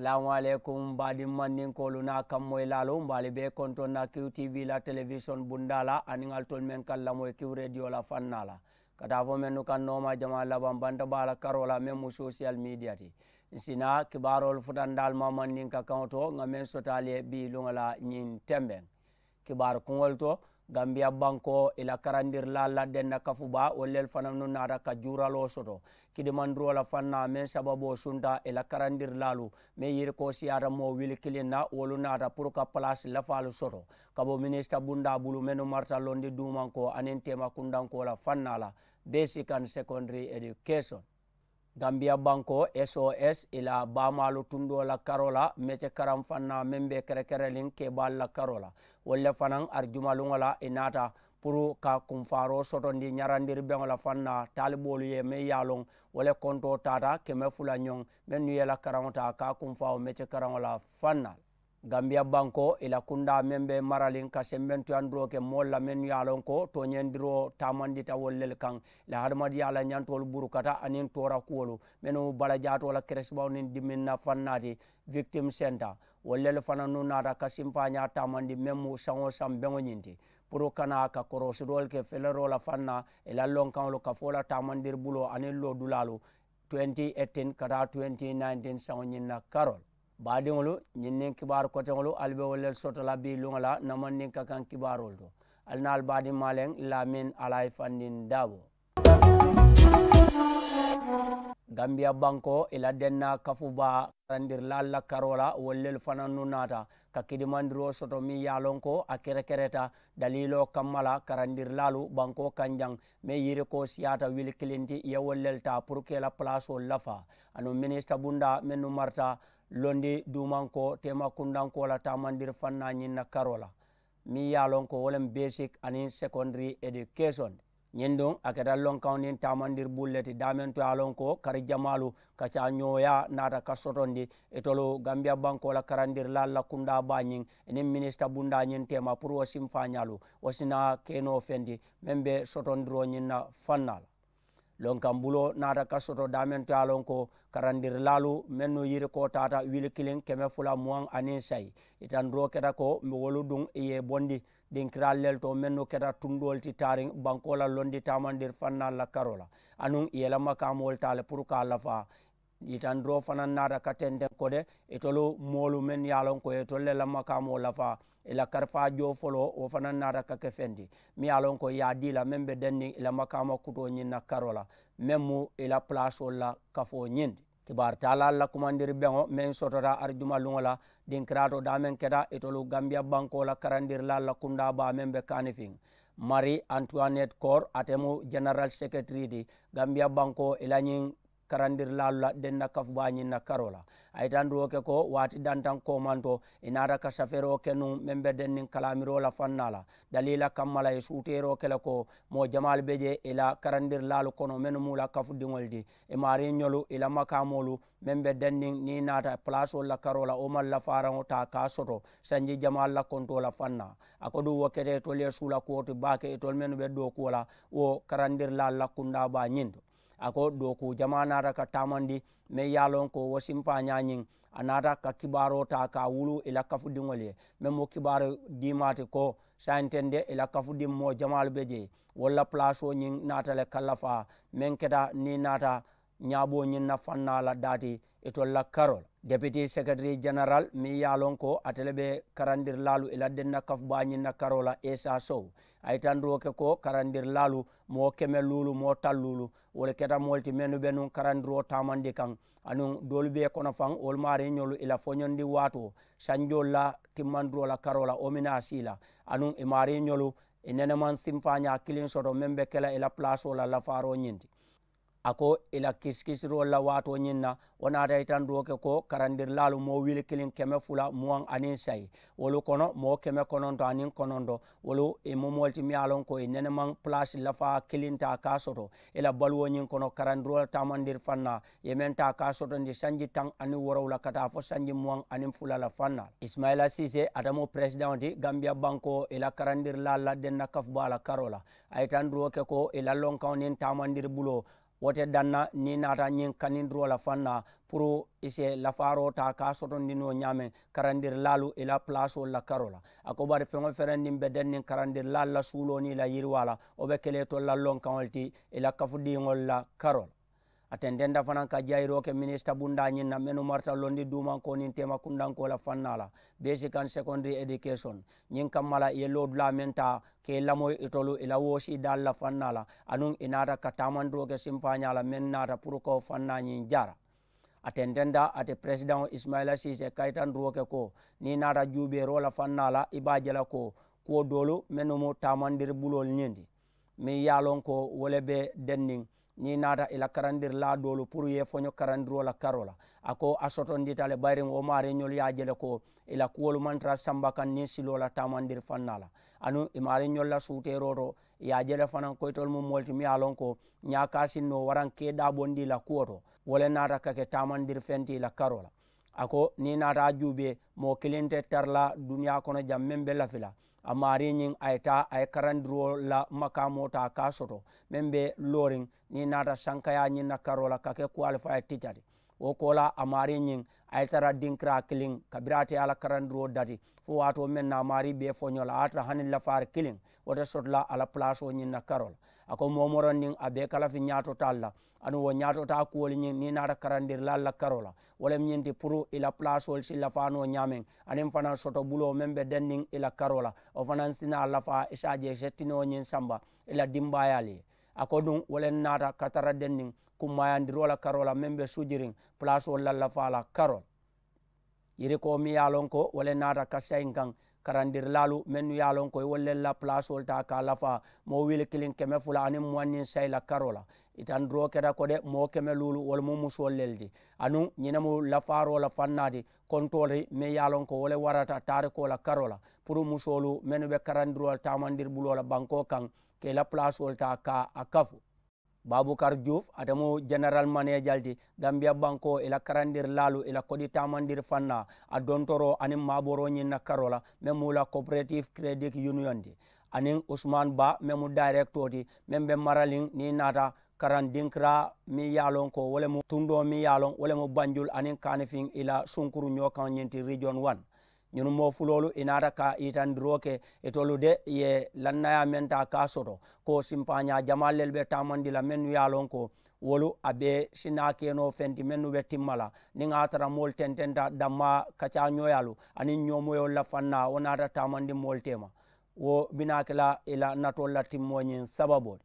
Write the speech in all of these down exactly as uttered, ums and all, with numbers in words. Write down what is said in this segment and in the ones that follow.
Salaamu aleykum, baadiŋ mandinkoolu niŋ a kammoyilaalu, mbe ali bee kontoŋ na kiw tv la telewisoŋ bundaa la aniŋ ali tolu meŋ ka lamoyi kiw rediyo la fannaa la, ka taa fo mennu kaŋ nooma jamaa labaŋ banta baa la karoo la meŋ mu sosiyal miidiya ti. Ǹ si naa kibaaroolu futandi ali ma mandinka kaŋo to ŋa meŋ soto ali ye bii luŋo la ñiŋ tembeŋ. Kibaaru kuŋolu to, gambiya bankoo ì la karandirilaalu la denna kafu baa wolu lelu fanannu naata ka juuraloo soto kidimandiroo la fannaa meŋ sababoo sunta ì la karandirilaalu meŋ yirikoo siyaata moo wili kiliŋ na wolu naata puru ka palaasi lafaalu soto ka bo minisita bundaa bulu mennu marata londi duumankoo aniŋ teema kundankoo la fannaa la, basic and secondary education. Gambiya bankoo sos ì la baamaalu tundoo la karoo la mece karaŋ fannaa meŋ be kerekereliŋ keebaalu la karoo la, wolu le fanaŋ arijumaluŋo la ì naata puru ka kunfaaroo sotondi ñarandiri beŋo la fannaa taaliboolu ye meŋ ye a loŋ wo le kontoo taata keme fula ñoŋ mennu ye la karaŋo taa ka a kunfaawo mece karaŋo la fannaa. Gambiya bankoo ì la kundaa meŋ be maraliŋ ka sembentuyandiroo ke moolu la mennu ye a loŋ ko tooñendiroo taamandita wolu lelu kaŋ ì la hadamadiyaa la ñantoolu burukata aniŋ toora kuwolu mennu balajaatoo la keresibaŋo niŋ diminna fannaa ti, victim center, wolu lelu fanannu naata ka simpaañaa taamandi meŋ mu saŋ wo saŋ beŋo ñiŋ ti puru kana ka korosiroolu ke feleroo la fannaa ì la lonkaŋolu ka fo la taamandiri buloo aniŋ loodulaalu twenty eighteen ka taa twenty nineteen saŋo ñiŋ na karoo la. Baadiŋolu, ñiŋ niŋ kibaaru koteŋolu ali be wolu le soto la bii luŋo la ǹ na mandinka kaŋ kibaaroolu to. Ali naa ali baadiŋ maaleŋ laamin alayi fandiŋ daabo. Gambiya bankoo ì la dennaa kafu baa karandirilaalu la karoo la wolu lelu fanannu naata ka kidimandiroo soto meŋ ye a loŋ ko a kerekereta daliiloo kamma la karandirilaalu bankoo kaŋ jaŋ meŋ yirikoo siyaata wili kiliŋ ti ì ye wolu lelu taa puru ka ì la palaasoolu lafaa aduŋ minisita bundaa mennu marata londi duumankoo teema kundankoo la taamandiri fannaa ñiŋ na karoo la meŋ ye a loŋ ko wo le mu basic aniŋ secondary education. Ñiŋ duŋ a keta lonkaŋo niŋ taamandiri bulu le ti daameŋ to ye a loŋ ko kari jamaalu ka caa ñooyaa naata ka sotondi itolu gambiya bankoo la karandirilaalu la kundaa baa ñiŋ ì niŋ minisita bundaa ñiŋ teema puru wo simfaañaalu wo si naa ke noo feŋ ti meŋ be sotondiroo ñiŋ na fannaa la. Lonkaŋ buloo naata ka soto daameŋ to ye a loŋ ko karandirilaalu mennu yirikoo taata wili kiliŋ keme fula muwaŋ aniŋ sayi, yitandiroo keta ko wolu duŋ ì ye ì bondi dinkiraalu lelu to mennu keta tundoolu ti taariŋ bankoo la londi taamandiri fannaalu la karoo la aduŋ ì ye i la makaamoolu taa le puru ka a lafaa. Yitandiroo fanaŋ naata ka tenteŋ ko de itolu moolu mennu ye a loŋ ko ì ye itolu le la makaamoo lafaa ì la karifaa joo foloo wo fanaŋ naata ka ke feŋ ti meŋ ye a loŋ ko ì ye a dii la meŋ be denniŋ ì la makaama kutoo ñiŋ na karoo la meŋ mu ì la palaasoolu la kafoo ñiŋ ti. Kibaaru taalaalu la kumandiri beŋo meŋ sotota arijuma luŋo la dinkiraato daameŋ keta itolu gambiya bankoo la karandirilaalu la kundaa baa meŋ be kaanifiŋ mari antuwanet kor ate mu jeneral seketiri ti gambiya bankoo ì la ñiŋ karandirilaalu la denna kafu baa ñiŋ na karoo la. A yitandiroo ke ko waati dantaŋ koomanto ì naata ka safeeroo ke nuŋ meŋ be denniŋ kalaamiroo la fannaa la daliila kamma la ì suuteeroo ke le ko moo jamaalu be je ì la karandirilaalu kono mennu mu la kafudiŋolu ti ì maariiñolu ì la makaamoolu meŋ be denniŋ niŋ ì naata palaasoolu la karoo la wo maŋ lafaaraŋo taa ka a soto sanji jamaalu la kontoo la fannaa. A ko duŋ wo keta itolu ye suula kuwo ti baake itolu mennu be dookuwo la wo karandirilaalu la kundaa baa ñiŋ to. A ko dookuu jamaa naata ka taamandi meŋ ye a loŋ ko wo simfaañaa ñiŋ a naata ka kibaaroo taa ka a wuluu ì la kafudiŋolu ye meŋ mu kibaaru diimaa ti ko saayinteŋ de ì la kafudiŋ moo jamaalu be jee wolu la palaasoo ñiŋ naata le ka lafaa meŋ keta niŋ ì naata ñaaboo ñiŋ na fannaa la daati itolu la karoo la. Deputi seketiri jeneral meŋ ye a loŋ ko ate le be karandirilaalu ì la denna kafu baa ñiŋ na karoo la esa sow a ye tandiroo ke ko karandirilaalu moo keme luulu moo taŋ luulu wolu keta moolu ti mennu be nuŋ karandiroo taamandi kaŋ aduŋ doolu be kono faŋ wolu maariiñolu ì la foñondi waatoo sanjoolu la timmandiroo la karoo la wo mina a sii la aduŋ ì maariiñolu ì nene maŋ simfaañaa kiliŋ soto meŋ be ke la ì la palaasoo la lafaaroo ñiŋ ti. A ko ì la kisikisiroolu la waatoo ñiŋ na wo naata yitandoo ke ko karandirilaalu moo wili kiliŋ keme fula muwaŋ aniŋ sayi wolu kono moo keme kononto aniŋ kononto wolu ì mu moolu ti miŋ ye a loŋ ko ì nene maŋ palaasi lafaa kiliŋ taa ka a soto ì la baluwo ñiŋ kono karandiroo la taamandiri fannaa ì ye meŋ taa ka a sotondi sanji taŋ aniŋ woorowula ka taa fo sanji muwaŋ aniŋ fula la fannaa la. Isimayila siisee ate mu peresidaŋo ti gambiya bankoo ì la karandirilaalu la denna kafu baa la karoo la a ye yitandoo ke ko ì la lonkaŋo niŋ taamandiri buloo Wo te daŋ na niŋ i naata ñiŋ kanindiroo la faŋ na puru i si lafaaroo taa ka a sotondi noo ñaameŋ karandirilaalu i la palaasoo la karoo la. A ko bari feŋ wo ferendiŋ be daŋ niŋ karandirilaalu la suuloo niŋ i la yiriwaa la wo be kelee tolu la lonkaŋo le ti i la kafudiŋolu la karoo la. A tententa fanaŋ ka jayiroo ke minisita bundaa ñiŋ na mennu marata londi duumankoo niŋ teema kundankoo la fannaa la bee si kaŋ secondarii edikesoŋ. Ñiŋ kamma la i ye loodulaa meŋ taa ka i lamoyi itolu i la woosii daalu la fannaa la anuŋ i naata ka taamandiroo ke simpaañaa la meŋ naata puru ka wo fannaa ñiŋ jaara. A tententa ate peresidaŋo isimayila siise kayitandiroo ke ko niŋ i naata juubeeroo la fannaa la i be a je la ko kuwo doolu mennu mu taamandiri buloolu ñiŋ ti meŋ ye a loŋ ko wo le be denniŋ niŋ i naata i la karandirilaa doolu puru ye foño karandiroo la karoo la. A ko a sotondita le bayiriŋ wo maariiñolu ye a je le ko i la kuwolu maŋ tara samba kaŋ niŋ siloo la taamandiri fannaa la anuŋ i maariiñolu la suuteeroo to i ye a je le fanaŋ ko itolu mu moolu ti meŋ ye a loŋ ko ñaakaa si noo waraŋ ka i daabondi i la kuwo to wo le naata ka ke taamandiri feŋ ti i la karoo la. A ko niŋ i naata a juubee moo kiliŋ te tara la duniyaa kono jaŋ meŋ be lafi la a maarii ñiŋ a ye taa a ye karandiroo la makaamoo taa ka a soto meŋ be looriŋ niŋ i naata sankayaa ñiŋ na karoo la ka ke kuwalifaye tica ti. Wo koolaa a maarii ñiŋ a ye tara dinkiraa kiliŋ kabiriŋ a te a la karandiroo dati fo waatoo meŋ na a maarii be foñoo la a ye a tara hani lafaari kiliŋ wo te soto la a la palaasoo ñiŋ na karoo la. A ko moo morondiŋ a be i ka lafi ñaatotaalu la aduŋ wo ñaatotaa kuwolu ñiŋ niŋ i naata karandirilaalu la karoo la wo le mu ñiŋ ti puru i la palaasoo si lafaa noo ñaameŋ aniŋ fanaa sotobuloo meŋ be denniŋ i la karoo la wo fanaa si naa lafaa i si a je i si tinoo ñiŋ samba i la dimbaayaalu ye. A ko duŋ wo le naata ka tara denniŋ kummaayandiroo la karoo la meŋ be sujiriŋ palaasoo la lafaa la karoo la. Yirikoo meŋ ye a loŋ ko wo le naata ka sayiŋ kaŋ karandirilaalu mennu ye a loŋ ko i wolu le la palaasoo le taa ka a lafaa moo wili kiliŋ keme fula aniŋ muwaŋ niŋ sayi la karoo la. Itandiroo keta ko de moo keme luulu wolu mu musoolu le ti anuŋ ñiŋ ne mu lafaaroo la fannaa ti kontoori meŋ ye a loŋ ko wo le warata taarikoo la karoo la puru musoolu mennu be karandiroo la taamandiri buloo la bankoo kaŋ ka i la palaasoo le taa ka a kafu. Baabukar juuf ate mu jeneral maneejal ti gambiya bankoo i la karandirilaalu i la kodi taamandiri fannaa a dontoroo aniŋ maaboroo ñiŋ na karoo la meŋ mu la koperatiifu keredit yuniyoŋ ti aniŋ usumaan baa meŋ mu dayirektoo ti meŋ be maraliŋ niŋ i naata karaŋ dinkiraa meŋ ye a loŋ ko wo le mu tundoo meŋ ye a loŋ wo le mu banjul aniŋ kaanifiŋ i la sunkuru ñoo kaŋ ñiŋ ti riijoŋ wan. Ñunu moo fuloolu i naata ka yitandiroo ke itolu de ye lannayaa meŋ taa ka a soto ko simpaañaa jamaalu lelu be taamandi la mennu ye a loŋ ko wolu a be si naa ke noo fenti mennu be timma la niŋ a ye a tara moolu tententa dammaa kacaañooyaalu aniŋ ñoomoyoolu la fannaa wo naata taamandi moolu teema. Wo bi naa ke la i la natoolu la timmoo ñiŋ sababoo ti.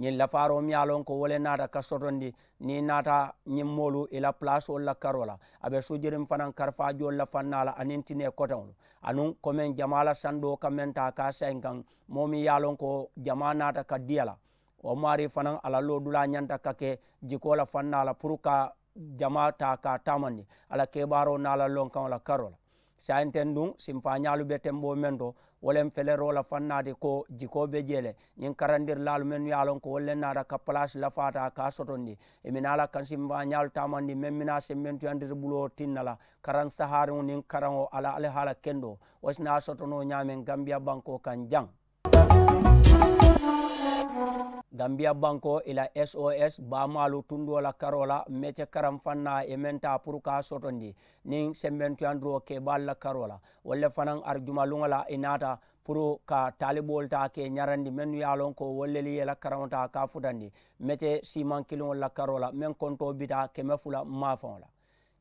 Ñiŋ lafaaroo meŋ ye a loŋ ko wo le naata ka sotondi niŋ i naata ñiŋ moolu i la palaasoolu la karoo la a be sujiriŋ fanaŋ karifaajoolu la fannaa la aniŋ tinee koteŋolu anuŋ komeŋ jamaa la sandoo ka meŋ taa ka a sayiŋ kaŋ moo meŋ ye a loŋ ko jamaa naata ka diya la. Wo maarii fanaŋ a la loodulaa ñanta ka ke jikoo la fannaa la puru ka jamaa taa ka a taamandi a la kebaaroo niŋ a la lonkaŋo la karoo la. Saayiŋ teŋ duŋ simpaañaalu be temboo meŋ to wo le feleroo la fannaa ti ko jikoo be jee le ñiŋ karandirilaalu mennu ye a loŋ ko wolu le naata ka palaasi lafaataa ka a sotondi i minaa la ka simpaañaalu taamandi meŋ minaa sembentuyandiri buloo tinna la karaŋ sahaariŋo niŋ karaŋo a la alihaala kendoo wo si naa sotonoo ñaameŋ gambiya bankoo kaŋ jaŋ. Gambiya bankoo i la sos baamaalu tundoo la karoo la mece karaŋ fannaa ye meŋ taa puru ka a sotondi niŋ sembentuyandiroo kebaalu la karoo la wolu le fanaŋ arijumaluŋo la i naata puru ka taaliboolu taa ke ñarandi mennu ye a loŋ ko wolu lelu ye i la karaŋo taa ka a futandi mece siimaŋ kiliŋolu la karoo la meŋ kontoo bita keme fula maafaŋo la.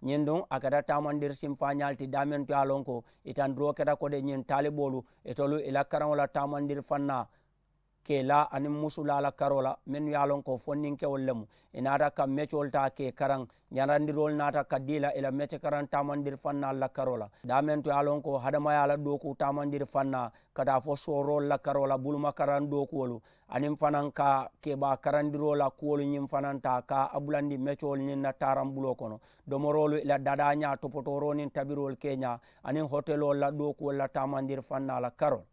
Ñiŋ duŋ a keta taamandiri simpaañaalu ti daameŋ to ye a loŋ ko i tandiroo keta ko de ñiŋ taaliboolu itolu i la karaŋo la taamandiri fannaa ke i la aniŋ musulaa la karoo la mennu ye a loŋ ko fondinkewolu le mu i naata ka mecoolu taa ke i karaŋ ñarandiroolu naata ka dii la i la mecekaraŋ taamandiri fannaalu la karoo la daameŋ to ye a loŋ ko hadamayaa la dookuu taamandiri fannaa ka taa fo sooroolu la karoo la bulumakaraŋ dookuwolu aniŋ fanaŋ ka kebaa karandiroo la kuwolu ñiŋ fanaŋ taa ka a bulandi mecoolu ñiŋ na taaraŋ buloo kono domoroolu i la dadaañaa topotooroo niŋ tabiroolu keeñaa aniŋ hoteloolu la dookuwolu la taamandiri fannaa la karoo la.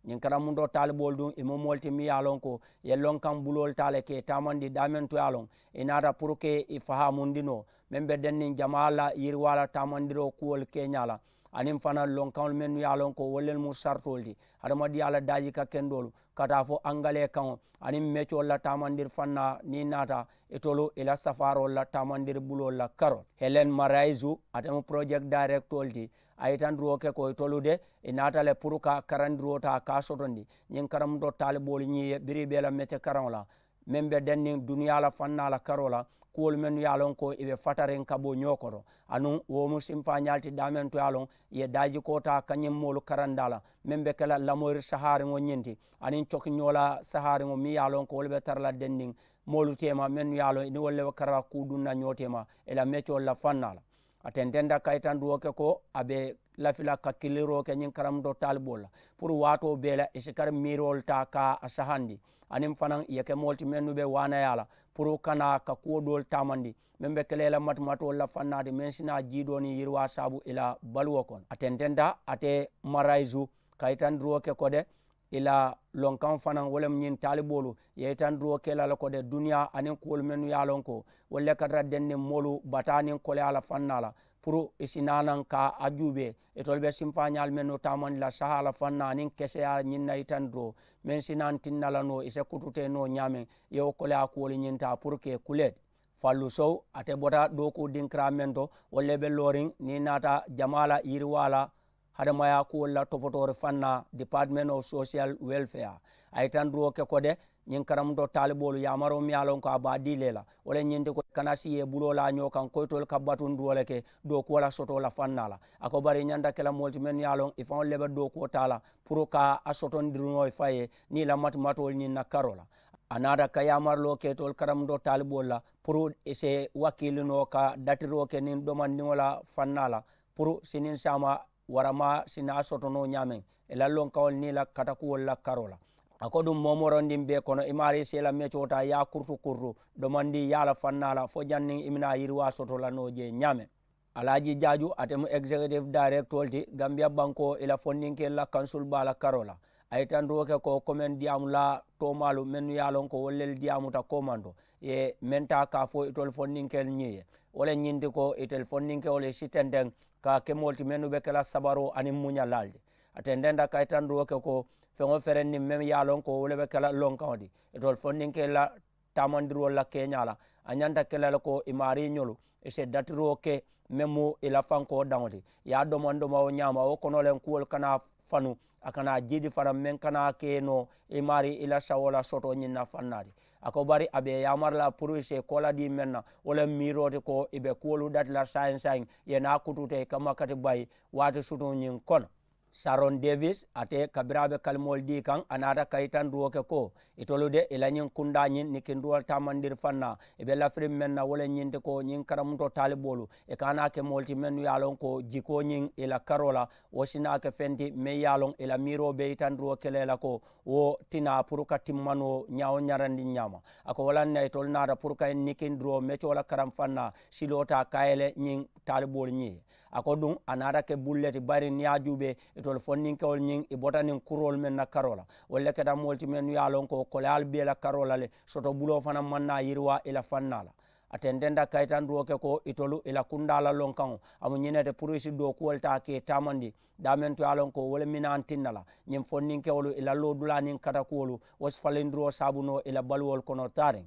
Ñiŋ karamuntoo taaliboolu duŋ i mu moolu ti miŋ ye a loŋ ko i ye lonkaŋ buloolu taa le ka i taamandi daameŋ to ye a loŋ i naata puru ka i fahaamundi noo meŋ be denniŋ jamaa la yiriwaa la taamandiroo kuwolu keeñaa la aniŋ fanaŋ lonkaŋolu mennu ye a loŋ ko wolu le mu saritoolu ti hadamadiŋ a la daaji ka kendoolu ka taa fo angalee kaŋo aniŋ mecoolu la taamandiri fannaa niŋ i naata itolu i la safaaroolu la taamandiri buloolu la karoo. Helen marayisu ate mu porojekiti dayirekitoolu ti. A ye itandiroo ke ko itolu de i naata le puru ka karandiroo taa ka a sotondi ñiŋ karamuto taaliboolu ñiŋ ye biriŋ i be i la mece karaŋo la meŋ be denniŋ duniyaa la fannaa la karoo la kuwolu mennu ye a loŋ ko i be fatariŋ ka bo ñoo koto anuŋ wo mu simfaañaalu ti daameŋ to ye a loŋ i ye daajikoo taa ka ñiŋ moolu karandaa la meŋ be ke la lamoyiri sahaariŋo ñiŋ ti aniŋ cokiñoo la sahaariŋo meŋ ye a loŋ ko wolu be tara la denniŋ moolu teema mennu ye a loŋ i niŋ wolu le be kara la kuu duŋ na ñoo teema i la mecoolu la fannaa la. A tententa kayitandiroo ke ko a be lafi la ka kiliroo ke ñiŋ karamuto taaliboolu la puru waatoo bee la i si kari miiroolu taa ka a sahandi aniŋ fanaŋ i ye ke moolu ti mennu be waanayaa la puru kana ka kuwo doolu taamandi meŋ be ke la i la matimatoolu la fannaa ti meŋ si naa jiidoo niŋ yiriwaa saabu i la baluwo kono a tententa ate marayisu kayitandiroo ke ko de i la lonkaŋo fanaŋ wo le mu ñiŋ taaliboolu ye itandiroo ke la le ko de duniyaa aniŋ kuwolu mennu ye a loŋ ko wolu le ka tara denniŋ moolu bataa niŋ koleyaa la fannaa la puru i si naa naŋ ka a juubee itolu be simfaañaalu mennu taamandi la sahaa la fannaa aniŋ keseyaa ñiŋ na itandiroo meŋ si naa tinna la noo i se kututee noo ñaameŋ i ye wo koleyaa kuwolu ñiŋ taa puru ka i kulee ti. Fallu sow ate bota dookuu dinkiraa meŋ to wolu le be looriŋ niŋ i naata jamaa la yiriwaa la hadamaya kuwolu la topotoori fannaa department of social welfare. A ye itandiroo ke ko de ñiŋ karamuto taaliboolu yaamaroo meŋ ye a loŋ ko a be a dii le la wo le ñiŋ ti ko i kana si ye buloo la a ñoo kaŋ ko itolu ka batundiroo le ke dookuwo la sotoo la fannaa la a ko bari i ñanta ke la moolu ti mennu ye a loŋ i faŋolu le be dookuwo taa la puru ka a sotondirinoo i fa ye niŋ i la matimatoolu ñiŋ na karoo la. A naata ka yaamariloo ke itolu karamuto taaliboolu la puru i si wakiilinoo ka datiroo ke niŋ domandiŋo la fannaa la puru siniŋ saama waramaa si naa soto noo ñaameŋ i la lonkaŋolu niŋ i la katakuwolu la karoo la. A ko duŋ moo morondiŋ bee kono i maarii si i la mecoo taa i ye a kurutu kurutu domandii ye a la fannaa la fo janniŋ i bi naa yiriwaa soto la noo jee ñaameŋ. Alaaji jaaju ate mu egizekitifu dayirekitoolu ti gambiya bankoo i la fondinkeelu la kansulu baa la karoo la. A ye itandiroo ke ko komeŋ diyaamu la toomaalu mennu ye a loŋ ko wolu lelu diyaamuta koomanto ye meŋ taa ka a fo itolu fondinkeelu ñiŋ ye wo le ñiŋ ti ko itelu fondinkewolu ye si tenteŋ ka a ke moolu ti mennu be ke la sabaroo aniŋ muñalaalu ti. A tententa ka itandiroo ke ko feŋ wo ferendiŋ meŋ ye a loŋ ko wo le be ke la lonkaŋo ti itolu fondinkeelu la taamandiroolu la keeñaa la a ñanta ke la le ko i maariiñolu i si datiroo ke meŋ mu i la fankoo daŋo ti i ye a domaŋ domaŋ wo ñaama wo kono le kuwolu kana fanu a kana jiidi fanaŋ meŋ kana ke noo i maarii i la sawoo la sotoo ñiŋ na fannaa ti. A ko bari a be i yaamari la puru i si i koola dii meŋ na wo le miiroo ti ko i be kuwolu dati la saayiŋ saayiŋ i ye naa kutuuta i kamma kati bayi waati sutuŋ ñiŋ kono. Saron devis ate kabiriŋ a be kalimoolu dii kaŋ a naata ka itandiroo ke ko itolu de i la ñiŋ kundaa ñiŋ nikindiroo taamandiri fannaa i be lafiriŋ meŋ na wo le ñiŋ ti ko ñiŋ karamuto taaliboolu i ka naa ke moolu ti mennu ye a loŋ ko jikoo ñiŋ i la karoo la wo si naa ke feŋ ti meŋ ye a loŋ i la miiroo be itandiroo ke la i la ko wo tinaa puru ka timmanoo ñaawo ñarandiŋ ñaama. A ko wo laŋ na itolu naata puru ka i nikindiroo mecoo la karaŋ fannaa siloo taa ka a ye le ñiŋ taaliboolu ñiŋ ye. A ko duŋ a naata ke bulu le ti bari niŋ i ye a juubee itolu fondinkewolu ñiŋ i bota niŋ kuroolu meŋ na karoo la wolu le keta moolu ti mennu ye a loŋ ko koleyaalu bee la karoo la le soto buloo fanaŋ maŋ naa yiriwaa i la fannaa la. A tententa kayitandiroo ke ko itolu i la kundaa la lonkaŋo a mu ñiŋ ne ti puru i si dookuwolu taa ka i taamandi daameŋ to ye a loŋ ko wo le minaŋ tinna la ñiŋ fondinkewolu i la loodulaa niŋ katakuwolu wo si falindiroo saabu noo i la baluwolu kono taariŋ.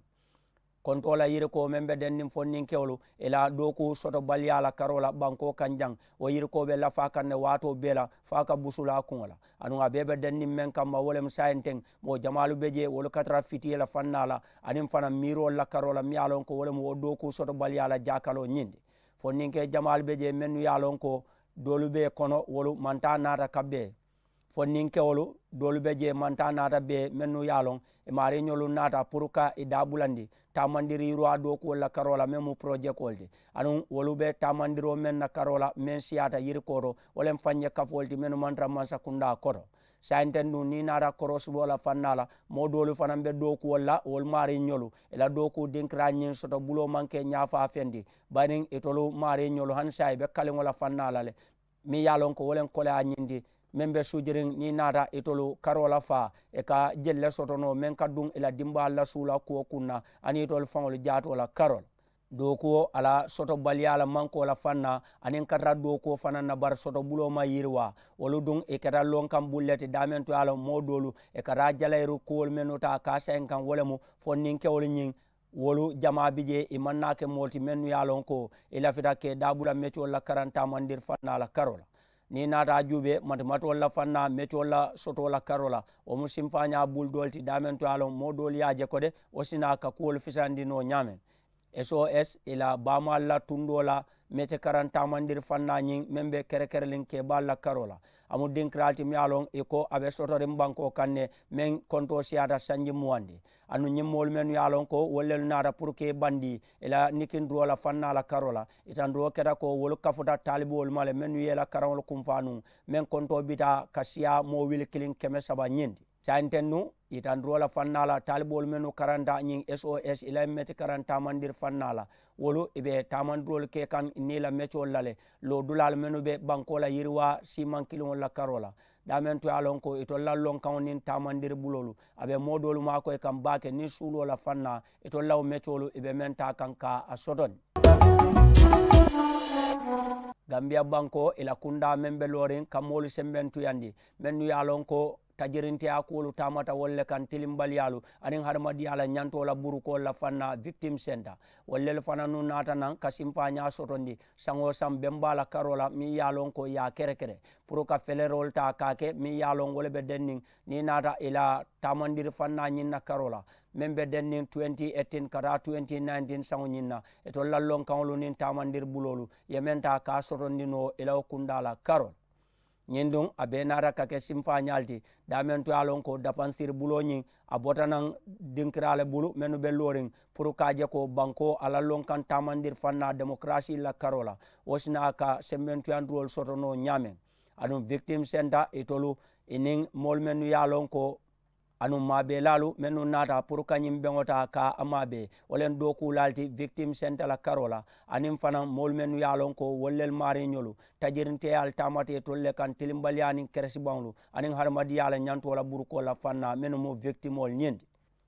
Kontoo la yirikoo meŋ be denniŋ fondinkewolu i la dookuu sotobaliyaa la karoo la bankoo kaŋ jaŋ wo yirikoo be lafaa kaŋ ne waatoo bee la fo a ka busulaa kuŋo la aduŋ a bee be denniŋ meŋ kamma wo le mu saayiŋ teŋ moo jamaalu be jee wolu ka tara fitiye la fannaa la aniŋ fanaŋ miiroolu la karoo la miŋ ye a loŋ ko wo le mu wo dookuu sotobaliyaa la jaakaloo ñiŋ ti. Fondinkee jamaalu be jee mennu ye a loŋ ko doolu be kono wolu mantaa naata ka bee fondinkewolu doolu be jee mantaa naata bee mennu ye a loŋ i maariiñolu naata puru ka i daabulandi taamandiri yiriwaa dookuwolu la karoo la meŋ mu porojekoolu ti aduŋ wolu be taamandiroo meŋ na karoo la meŋ siyaata yirikoo to wo le mu faŋ ye kafoolu ti mennu maŋ tara mansakundaa koto. Saayiŋ teŋ duŋ niŋ i naata korosiboo la fannaa la moo doolu fanaŋ be dookuwolu la wolu maariiñolu i la dookuu dinkiraa ñiŋ soto buloo maŋ ke ñaafaa feŋ ti bari itolu maariiñolu hani saayiŋ i be kaliŋo la fannaa la le meŋ ye a loŋ ko wo le koleyaa ñiŋ ti meŋ be sujiriŋ niŋ i naata itolu karoo la faa i ka jelu le soto noo meŋ ka duŋ i la dimbaalu la suu la kuwo kuŋ na aniŋ itolu faŋolu jaatoo la karoo la. Dookuwo a la sotobaliyaa la mankoo la faŋ na, aniŋ katara dookuwo fanaŋ na, bari sotobuloo maŋ yiriwaa. Wolu duŋ ì keta lonkaŋ bulu le ti daameŋ to ye a loŋ moo doolu ì ka taa jalayiru kuwolu mennu taa ka a sayiŋ kaŋ wo le mu fondinkewolu ñiŋ. Wolu jamaa bi jee ì maŋ naa ke moolu ti mennu ye a loŋ ko ì lafita ka ì daabula metiwolu la karaŋ taamandiri faŋ na a la karoo la. Niŋ ì naata a juubee matimatiwolu la faŋ na metiwolu la sotoo la karoo la, wo mu simfaañaa bulu doolu ti daameŋ to ye a loŋ moo doolu ye a je ko de wo si naa ka kuwolu fisandi noo ñaameŋ. S O S ì la baamaalu la tundoo la mete karaŋ taamandiri faŋ na ñiŋ meŋ be kerekereliŋ keebaalu la karoo la. A mu dinkiraalu ti miŋ ye a loŋ ì ko a be sotoriŋ bankoo kaŋ ne meŋ kontoo siyaata sanji muwandi. Aduŋ ñiŋ moolu mennu ye a loŋ ko wolu lelu naata puru ka ì bandi ì la nikindiroo la faŋ na a la karoo la. Ì tandiroo keta ko wolu kafuta taaliboolu ma le mennu ye ì la karaŋolu kunfaa nuŋ meŋ kontoo bita ka siyaa moo wili kiliŋ keme saba ñiŋ ti. Saayiŋ teŋ nuŋ ì tandiroo la faŋ na a la taaliboolu mennu karanta ñiŋ S O S ì la meti karaŋ taamandiri faŋ na a la. Wolu ì be taamandiroolu ke kaŋ niŋ ì la metiwolu la le. Loodulaalu mennu be bankoo la yiriwaa siimaŋ kiliŋolu la karoo la daameŋ to ye a loŋ ko itolu la lonkaŋo niŋ taamandiri buloolu a be moo doolu maakoyi kaŋ baake niŋ suuloo la faŋ na. Itolu la wo metiwolu ì be meŋ taa kaŋ ka a sotondi. Gambiya bankoo ì la kundaa meŋ be looriŋ ka moolu sembentuyandi mennu ye a loŋ ko tajirinteyaa kuwolu taamata wolu le kaŋ tilimbaliyaalu aniŋ hadamadiyaa la ñantoo la burukoolu la faŋ na victim senta. Wolu lelu fanaŋ nuŋ naata naŋ ka simfaañaa sotondi saŋ-wo-saŋ bembaa la karoo la meŋ ye a loŋ ko ì ye a kerekere puru ka feleroolu taa ka a ke meŋ ye a loŋ wo le be denniŋ. Niŋ ì naata ì la taamandiri faŋ na ñiŋ na karoo la meŋ be denniŋ twenty eighteen ka taa twenty nineteen saŋo ñiŋ na itolu la lonkaŋolu niŋ taamandiri buloolu ì ye meŋ taa ka a sotondi noo ì la wo kundaa la karoo la. Ñiŋ duŋ a bee naata ka ke simfaañaalu ti daameŋ to ye a loŋ ko dapansiri buloo ñiŋ a bota naŋ dinkiraa le bulu mennu be looriŋ puru ka a je ko bankoo a la lonkaŋ taamandiri faŋ na demokarasii la karoo la. Wo si naa ka sembentuyandiroolu soto noo ñaameŋ. Aduŋ victim senta itolu ì niŋ moolu mennu ye a loŋ ko aduŋ maabeelaalu mennu naata puru ka ñiŋ beŋo taa ka a maabee wo le ye dookuulaalu ti victim senta la karoo la. Aniŋ fanaŋ moolu mennu ye a loŋ ko wolu lelu maariiñolu tajirinteyaalu taamata itolu le kaŋ tilimbaliyaa niŋ keresibaŋolu aniŋ hadamadiyaa la ñantoo la burukoolu la faŋ na mennu mu victimoolu ñiŋ ti.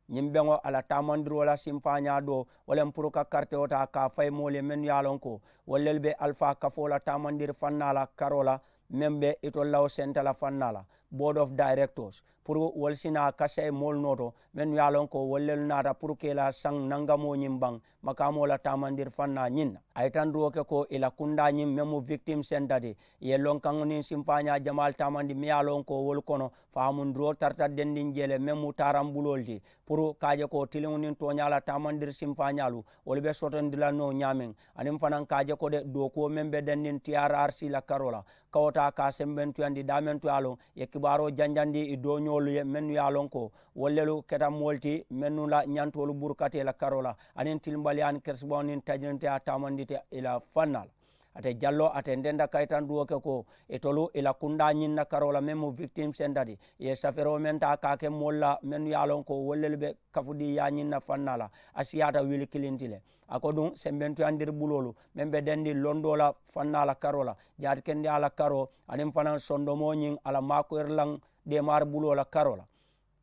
Ñiŋ beŋo a la taamandiroo la simfaañaa doo wo le mu puru ka karitewo taa ka a fayi moolu ye mennu ye a loŋ ko wolu lelu be alifaa kafoo la taamandiri faŋ na a la karoo la meŋ be itolu la wo senta la faŋ na a la board of directors puru wolu si naa kasayi moolu nooto mennu ye a loŋ ko wolu lelu naata puru ka ì la saŋ nangamoo ñiŋ baŋ makaamoo la taamandiri faŋ na ñiŋ na. A ye tandiroo ke ko ì la kundaa ñiŋ meŋ mu victim senta ti ì ye lonkaŋo niŋ simfaañaa jamaalu taamandi meŋ ye a loŋ ko wolu kono faamundiroo tarata dendiŋ jee le meŋ mu taaraŋ buloolu ti puru ka a je ko tiliŋo niŋ tooñaa la taamandiri simfaañaalu wolu be sotondi la noo ñaameŋ. Aniŋ fanaŋ ka a je ko de dookuwo meŋ be denniŋ T R R C la karoo la ka wo taa ka a sembentuyandi daameŋ to ye a loŋ ì ye kibaaroo janjandi ì dooñoolu ye mennu ye a loŋ ko wolu lelu keta moolu ti mennu la ñantoolu burukata ì la karoo la aniŋ tilimbaliyaa niŋ keresibaŋo niŋ tajirinteyaa taamandita ì la faŋ na a la. Ate jalloo a tententa kayitanduwo ke ko itolu ì la kundaa ñiŋ na karoo la meŋ mu victim senta ti ì ye safeeroo meŋ taa ka a ke moolu la mennu ye a loŋ ko wolu lelu be kafudii yaa ñiŋ na faŋ na a la a siyaata wili kiliŋ ti le. A ko duŋ sembentuyandiri buloolu meŋ be dendiŋ londoo la faŋ na a la karoo la jaati kendeyaa la karoo aniŋ fanaŋ sondomoo ñiŋ a la maakoyirilaŋ deemaari buloo la karoo la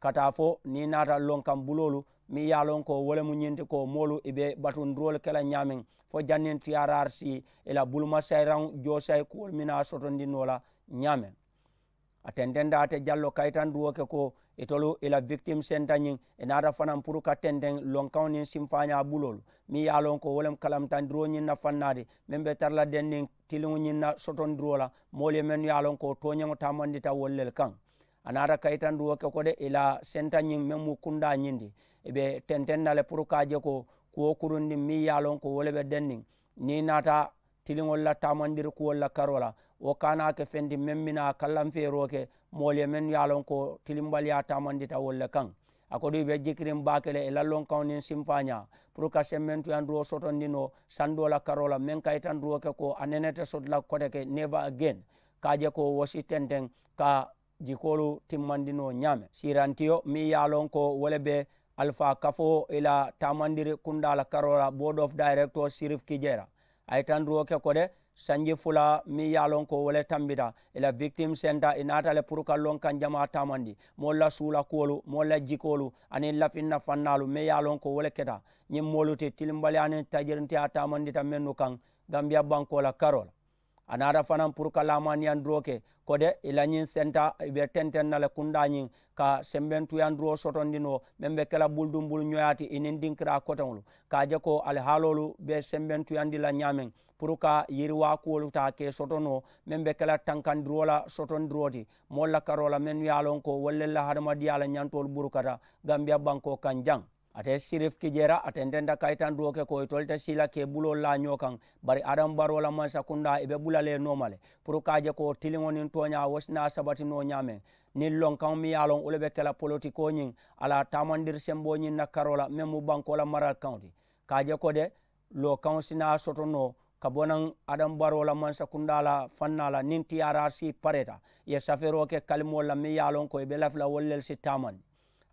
ka taa fo niŋ ì naata lonkaŋ buloolu meŋ ye a loŋ ko wo le mu ñiŋ ti ko moolu ì be batundiroolu ke la ñaameŋ fo janniŋ T R R C ì la bulumasayiraŋ joosayi kuwolu mennu a sotondi noo la ñaameŋ. A tententa ate jallo kayitandiwo ke ko itolu ì la victim senta ñiŋ ì naata fanaŋ puru ka tenteŋ lonkaŋo niŋ simfaañaa buloolu meŋ ye a loŋ ko wo le mu kalamutandiroo ñiŋ na faŋ naati meŋ be tara la denniŋ tiliŋo ñiŋ na sotondiroo la moolu ye mennu ye a loŋ ko tooñeŋo taamandita wolu lelu kaŋ. A naata kayitandiwo ke ko de ì la senta ñiŋ meŋ mu kundaa ñiŋ ti ì be tenteŋ na le puru ka a je ko kuwo kurundiŋ meŋ ye a loŋ ko wo le be denniŋ niŋ ì naata tiliŋolu la taamandiri kuwolu la karoo la wo ka naa ke feŋ ti meŋ bi naa kallanfeeroo ke moolu ye mennu ye a loŋ ko tilimbaliyaa taamandita wolu le kaŋ. A ko duŋ ì be jikiriŋ baake le ì la lonkaŋo niŋ simfaañaa puru ka sembentuyandiroo sotondi noo sandoo la karoo la meŋ kayitandiroo ke ko a nene te soto la kote ke never again ka a je ko wo si tenteŋ ka jikoolu timmandi noo ñaameŋ siirantiyo meŋ ye a loŋ ko wo le be alifaa kafoo ì la taamandiri kundaa la karoo la board of directors sirif kijera a ye tandiroo ke ko de Sanji fula meŋ ye a loŋ ko wo le tambita, ì la victim senta ì naata le puru ka loŋ kaŋ jamaa taamandi, moolu la suula kuwolu, moolu la jikoolu, aniŋ lafinna fannaalu meŋ ye a loŋ ko wo le keta. Ñiŋ moolu ti tilimbaliyaa niŋ tajirintiyaa taamandita mennu kaŋ gambiya bankoo la karoo la. A naata fanaŋ puru ka laamaaniyaŋ duroo ke ko de ì la ñiŋ senta ì be tenteŋ na le kundaa ñiŋ ka sembentuyaŋ duroo sotondi noo meŋ be ke la buluduŋ bulu ñoyaa ti ì niŋ dinkiraa koteŋolu ka a je ko alihaaloolu be sembentuyandi la ñaameŋ puru ka yiriwaa kuwolu taa ka ì soto noo meŋ be ke la tankandiroo la sotondiroo ti moolu la karoo la mennu ye a loŋ ko wolu le la hadamadiyaa la ñantoolu burukata gambiya bankoo kaŋ jaŋ. Ate sirif kijeera a tententa kayitandiroo ke ko itolu te sii la ka ì buloolu laa ñoo kaŋ. Bari adamu baroo la mansakundaa ì be bula le nooma le puru ka a je ko tiliŋo niŋ tooñaa wo si naa sabati noo ñaameŋ. Niŋ lonkaŋo miŋ ye a loŋ wo le be ke la politikoo ñiŋ a la taamandiri semboo ñiŋ na karoo la meŋ mu bankoo la maralikaŋo ti ka a je ko de lookaŋo si naa soto noo ka bo naŋ adamu baroo la mansakundaa la fannaa la niŋ tiyaaraasi pareeta ì ye safeeroo ke kalimoolu la meŋ ye a loŋ ko ì be lafi la wolu lelu si taamandi.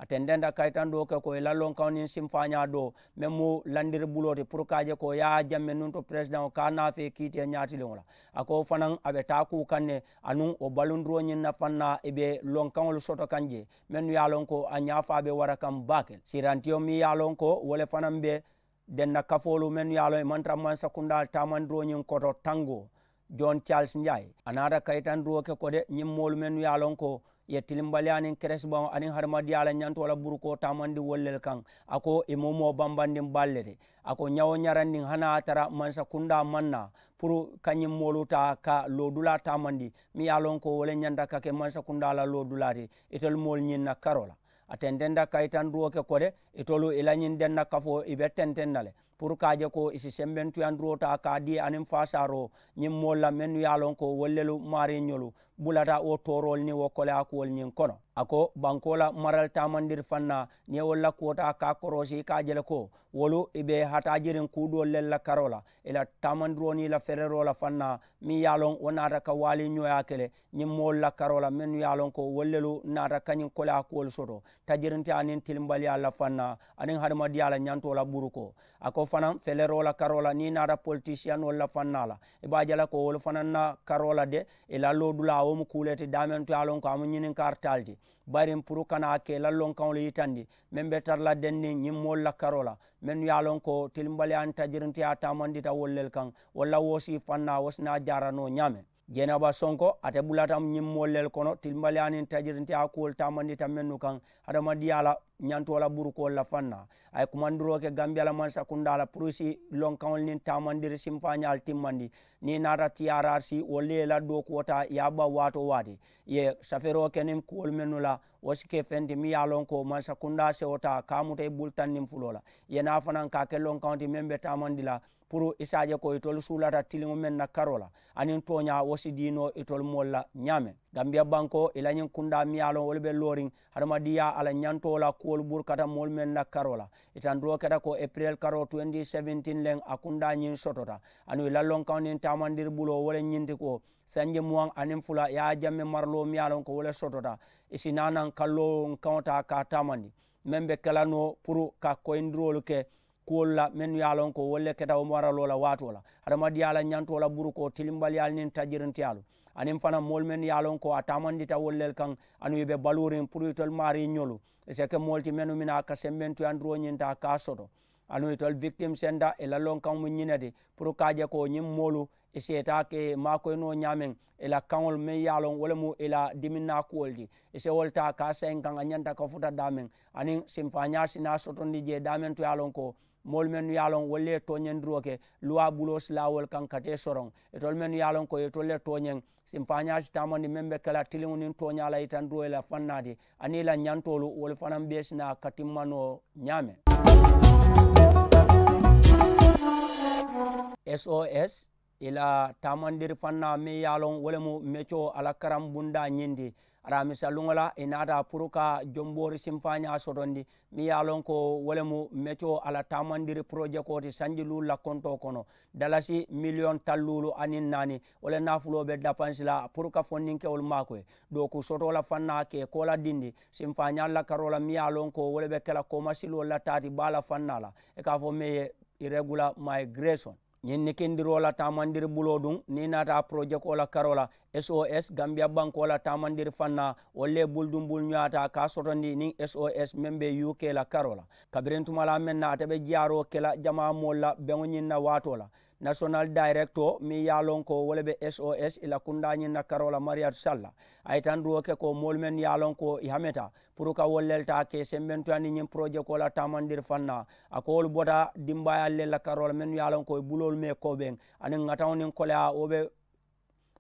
A tententa kayitandoo ke ko ì la lonkaŋo niŋ simfaañaa doo meŋ mu landiri buloo ti puru ka a je ko ì ye a jamme nuŋ to peresidaŋo ka a naa fee kiitee ñaatiliŋo la. A ko wo fanaŋ a be taa kuu kaŋ ne anuŋ wo balundiroo ñiŋ na fannaa ì be lonkaŋolu soto kaŋ jee mennu ye a loŋ ko a ñaafaa be wara kaŋ baake le siirantiyo meŋ ye a loŋ ko wo le fanaŋ be denna kafoolu mennu ye a loŋ ì maŋ tara mansakundaa taamandiroo ñiŋ koto tangoo. John charles njaayi a naata kayitandiroo ke ko de ñiŋ moolu mennu ye a loŋ ko ì ye tilimbaliyaa niŋ keresibaŋo aniŋ hadamadiyaa la ñantoo la burukoo taamandi wolu le kaŋ. A ko ì mu moo bambandiŋ baalu le ti. A ko ñawo ñarandiŋ hani a ye a tara mansakundaa maŋ naa puru ka ñiŋ moolu taa ka loodulaa taamandi meŋ ye a loŋ ko wo le ñanta ka ke mansakundaa la loodulaa ti itolu moolu ñiŋ na karoo la. A tententa kayitandiroo ke ko de itolu ì la ñiŋ denna kafoo ì be tenteŋ na le puru ka a je ko ì si sembentuyandiroo taa ka a dii aniŋ faasaaroo ñiŋ moolu la mennu ye a loŋ ko wolu lelu maariiñolu bulata wo tooroolu niŋ wo koleyaa kuwolu ñiŋ kono. A ko bankoo la marali taamandiri fannaa niŋ ì ye wolu la kuwo taa ka a koroosi ì ka a je le ko wolu ì be hataajiriŋ kuu doolu lelu la karoo la ì la taamandiroo niŋ ì la fereroo la fannaa meŋ ye a loŋ wo naata ka waaliiñooyaa ke le ñiŋ moolu la karoo la mennu ye a loŋ ko wolu lelu naata kañiŋ koleyaa kuwolu soto tajirintiyaa niŋ tilimbaliyaa la fannaa aniŋ hadamadiyaa la ñantoo la burukoo. A ko fanaŋ feleroo la karoo la niŋ ì naata politisiyanoolu la fannaa la ì be a je la ko wolu fanaŋ na karoo la de ì la loodulaa wo mu kuu le ti daameŋ to ye a loŋ ko a mu ñininkaari taa le ti. Bayiriŋ puru kana a ke ì la lonkaŋolu yitandi meŋ be tara la denniŋ ñiŋ moolu la karoo la mennu ye a loŋ ko tilimbaliyaa niŋ tajirintiyaa taamandita wolu lelu kaŋ walla wo si fannaa wo si naa jaara noo ñaameŋ. Jeenaba sonko ate bulata ñiŋ moolu lelu kono tilimbaliyaa niŋ tajirintiyaa kuwolu taamandita mennu kaŋ hadamadiyaa la ñantoo la burukoolu la fannaa. A ye kumandiroo ke gambiya la mansakundaa la puru ì si lonkaŋolu niŋ taamandiri simfaañaalu timmandi niŋ ì naata tiyaaraari si wolu le ye ì la dookuwo taa ì ye a baŋ waatoo waati ì ye safeeroo ke niŋ kuwolu mennu la wo si ke feŋ ti meŋ ye a loŋ ko mansakundaa sewo taa ka a muta ì bulu taŋ niŋ fuloo la ì ye naa fanaŋ ka a ke lonkaŋo ti meŋ be taamandi la puru i si a je ko itolu suulata tiliŋo meŋ na karoo la aniŋ tooñaa wo si dii noo itolu moolu la ñaameŋ. Gambiya bankoo i la ñiŋ kundaa miŋ ye a loŋ wolu be looriŋ hadamadiyaa a la ñantoo la kuwolu burukata moolu meŋ na karoo la. I tandiroo keta ko epirel karoo twenty seventeen leŋ a kundaa ñiŋ sotota anuŋ i la lonkaŋo niŋ taamandiri buloo wo le ñinti ko sanji muwaŋ aniŋ fula i ye a jamme maraloo miŋ ye a loŋ ko wo le sotota. I si naa naŋ kalloo kaŋo taa ka a taamandi meŋ be ke la noo puru ka koyindiroolu ke kuwolu la mennu ye a loŋ ko wolu le keta wo maraloo la waatoo la hadamadiyaa la ñantoo la burukoo tilimbaliyaalu niŋ tajirintiyaalu aniŋ fanaŋ moolu mennu ye a loŋ ko a taamandita wolu le kaŋ anuŋ i be baluuriŋ puru itolu maarii ñolu i si ke moolu ti mennu mina ka sembentuyandiroo ñinta ka a soto. Anuŋ itolu victim senta i la lonkaŋo mu ñiŋ ne ti puru ka a je ko ñiŋ moolu i si i taa ke maakoyinoo ñaameŋ i la kaŋolu meŋ ye a loŋ wo le mu i la diminnaa kuwolu ti. I si wo le taa ka a sayiŋ kaŋ a ñanta ka futa daameŋ aniŋ sinfaañaa si naa sotondi jee daameŋ to ye a loŋ ko moolu mennu ye a loŋ wolu le ye tooñandiroo ke luwaa buloo si laa wolu kaŋ ka tee soroŋ itolu mennu ye a loŋ ko itolu le tooñeŋ sinfaañaa si taamandi meŋ be ke la tiliŋo niŋ tooñaa la yitandiroo ye la fannaa ti aniŋ i la ñantoolu wolu fanaŋ bee si naa ka timma noo ñaameŋ. Sos i la taamandiri fannaa meŋ ye a loŋ wo le mu mecoo a la karaŋ bundaa ñiŋ ti. Araamisa luŋo la i naata puru ka jomboori sinfaañaa sotondi meŋ ye a loŋ ko wo le mu mecoo a la taamandiri porojekoo ti sanji luulu la kontoo kono dalasi miliyoŋ taŋ luulu aniŋ naani. Wo le naafuloo be dapansi la puru ka fondinkewolu maakoyi dooku sotoo la fannaa ke koo la dindi sinfaañaalu la karoo la meŋ ye a loŋ ko wo le be ke la koomasiloolu la taati baa la fannaa la i ka a fo meŋ ye irregular migration. Ñiŋ nikindiroo la taamandiri buloo duŋ niŋ i naata porojekoo la karoo la, sos gambiya bankoo la taamandiri fannaa wolu le bulu duŋ bulu ñoyaata ka a sotondi niŋ sos meŋ be uk la karoo la. Kabiriŋ tumalaa meŋ na ate be jiyaaroo ke la jamaa moolu la beŋo ñiŋ na waatoo la, nasonal dayirekitoo meŋ ye a loŋ ko wo le be sos i la kundaa ñiŋ na karoo la mariyatu salla, a ye tandiroo ke ko moolu mennu ye a loŋ ko i hameta puru ka wolu le taa ke sembentuyandi ñiŋ porojekoo la taamandiri fannaa. A ko wolu bota dimbaayaalu le la karoo la mennu ye a loŋ ko i buloolu mee koobeŋ aniŋ ŋataŋo niŋ koleyaa wo be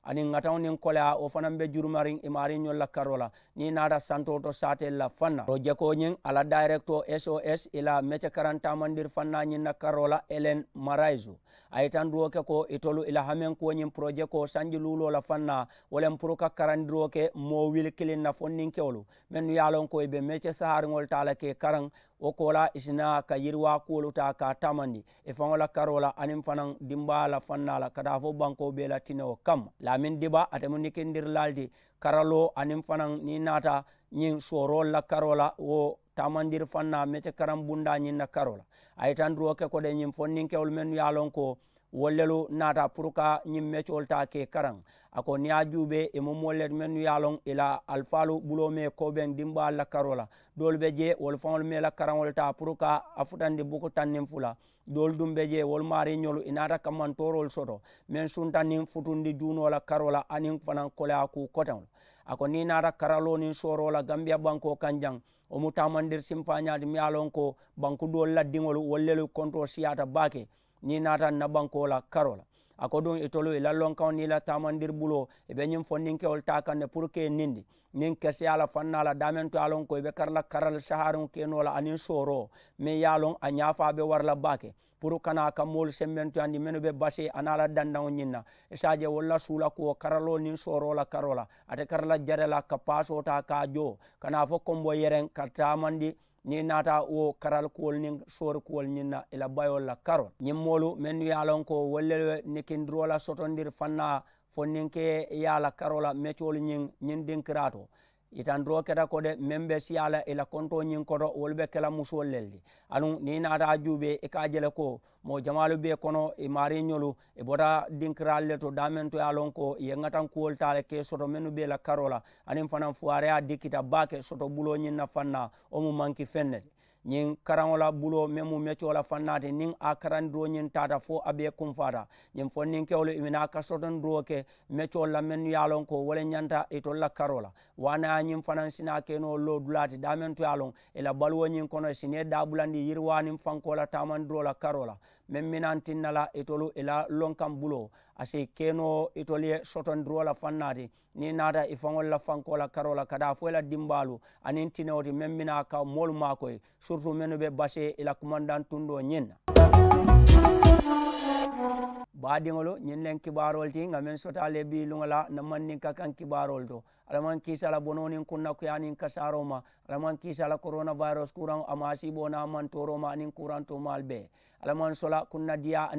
aniŋ ŋataŋo niŋ koleyaa wo fanaŋ be jurumariŋ i maariiñolu la karoo la niŋ i naata santoo to saateelu la fannaa. Porojekoo ñiŋ a la dayirekitoo sos i la mece karaŋ taamandiri fannaa ñiŋ na karoo la elen marayisu, a ye tandiroo ke ko itolu i la hamenkuwo ñiŋ porojekoo sanji luuloo la fannaa wo le puru ka karandiroo ke moo wili kiliŋ na fonninkewolu mennu ye a loŋ ko i be mece sahariŋolu taa la ke karaŋ. Wo koolaa i si naa ka yiriwaa kuwolu taa ka a taamandi i faŋo la karoo la aniŋ fanaŋ dimbaa la fannaa la ka taa fo bankoo bee la tinewo kamma. Laamin diba ate mu nikindirilaalu ti karaloo aniŋ fanaŋ niŋ i naata ñiŋ sooroolu la karoo la wo taamandiri fannaa mece karaŋ bundaa ñiŋ na karoo la. A ye tandiroo ke ko de ñiŋ fonninkewolu mennu ye a loŋ ko wolu lelu naata puru ka ñiŋ mecoolu taa ke karaŋ. A ko niŋ ye a juubee i mu moolu le ti mennu ye a loŋ i la alifaalu buloo mee koobeŋ dimbaalu la karoo la. Doolu be jee wolu faŋolu mee la karaŋolu taa puru ka a futandi buku taŋ niŋ fula. Doolu duŋ be jee wolu maariiñolu i naata kammantooroolu soto meŋ sunta niŋ futundi juunoo la karoo la aniŋ fanaŋ koleyaa kuu koteŋolu. A ko niŋ i naata karaloo niŋ sooroo la gambiya bankoo kaŋ jaŋ wo mu taamandiri simfaañaa ti miŋ ye a loŋ ko banku doolu la diŋolu wolu lelu kontoo siyaata baake. Niŋ i naata n na bankoo la karoo la a ko duŋ itolu i la lonkaŋo niŋ i la taamandiri buloo i be ñiŋ fondinkewolu taa kaŋ ne puru ka i nindi niŋ keseyaa la fannaa la daameŋ to ye a loŋ ko i be kara la karali sahariŋo ke noo la aniŋ sooroo meŋ ye a loŋ a ñaafaa be wara la baake puru kana a ka moolu sembentuyandi mennu be basee aniŋ a la dandaŋo ñiŋ na. I si a je wolu la suula kuwo karaloo niŋ sooroo la karoo la ate kara la jare la ka paasoo taa ka a joo kana a fo kombo yereŋ ka taamandi niŋ i naata wo karali kuwolu niŋ soori kuwolu ñiŋ na i la bayoolu la karoo la ñiŋ moolu mennu ye a loŋ ko wolu le nikindiroo la sotondiri fannaa fonninke ye a la karoo la mecoolu ñiŋ ñiŋ dinkiraa to. Yitandiroo keta ko de meŋ be siyaa la i la kontoo ñiŋ koto wolu be ke la musoolu le ti. Aduŋ niŋ i naata a juubee i ka a je le ko moo jamaalu be kono i maariiñolu i bota dinkiraalu le to daameŋ to ye a loŋ ko i ye ŋatankuwolu taa le ka i soto mennu be i la karoo la aniŋ fanaŋ fuwaareyaa dikkita baake soto buloo ñiŋ na fannaa wo mu manki feŋ ne ti. Ñiŋ karaŋo la buloo meŋ mu mecoo la fannaa ti niŋ a karandiroo ñiŋ taata fo a bee kumfaata ñiŋ fonninkewolu i bi naa ka sotondiroo ke mecoolu la mennu ye a loŋ ko wo le ñanta itolu la karoo la. Waana ye ñiŋ fanaŋ si naa ke noo loo dulaa ti daameŋ to ye a loŋ i la baluwo ñiŋ kono i si nee daabulandi yiriwaa niŋ fankoo la taamandiroo la karoo la meŋ minaŋ tinna la itolu i la lonkaŋ buloo a si ke noo itolu ye sotondiroo la fannaa ti. Niŋ i naata i faŋolu la fankoo la karoo la ka taa fo i la dimbaalu aniŋ tinewo ti meŋ bi naa ka moolu maakoyi siritu mennu be basee i la kumandaŋ tundoo ñiŋ na. Baadiŋolu ñiŋ leŋ kibaaroolu ti ŋa meŋ sotaa le bii luŋo la na mandinka kaŋ kibaaroolu to. Alla maŋ kiisa la bonoo niŋ kunnakuyaa niŋ kasaaroo ma. Alla maŋ kiisa la korona virus kuraŋo a maasiiboo naa maŋ tooroo ma aniŋ kuraŋ toomaalu bee. Alla maŋ sola kunnadiyaa.